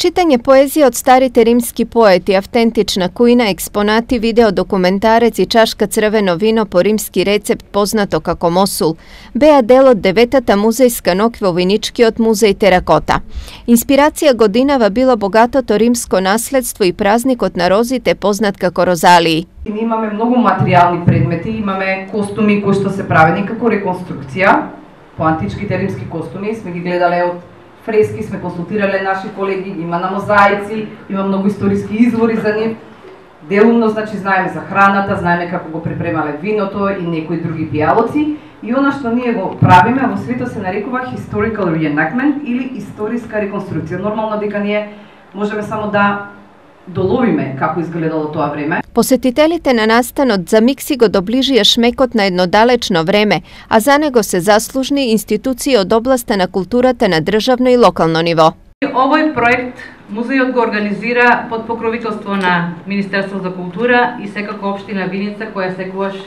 Читање поезија од старите римски поети, автентична кујна, експонати, видео документарец и чашка црвено вино по римски рецепт познато како мосул, беа дел од 9-та музејска ноќ во Виничкиот музеј Теракота. Инспирација годинава било богатото римско наследство и празникот на розите познат како Розалии. Ние имаме многу материјални предмети, имаме костуми кои што се правени како реконструкција по античките римски костуми, сме ги гледале од фрески, сме консултирале наши колеги, има на мозаици, има многу историски извори за нив. Делумно, значи, знаеме за храната, знаеме како го припремале виното и некои други пијалоци. И она што ние го правиме во светот се нарекува historical reenactment или историска реконструкција. Нормално дека ние можеме само да доловиме како изгледало тоа време. Посетителите на настанот за миг си го доближија шмекот на едно далечно време, а за него се заслужни институции од областа на културата на државно и локално ниво. Овој проект музејот го организира под покровителство на Министерство за култура и секако општина Виница, која секогаш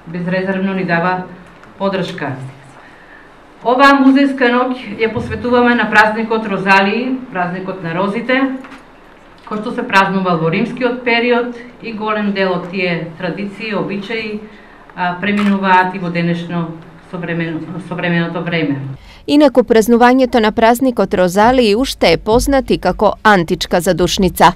безрезервно ни дава поддршка. Оваа музејска ноќ ја посветуваме на празникот Розалии, празникот на розите, кој што се празнува во римскиот период и голем дел од тие традиции, обичаи преминуваат и во денешно современото време. Инаку празнувањето на празникот Розалии уште е познат и како античка задушница.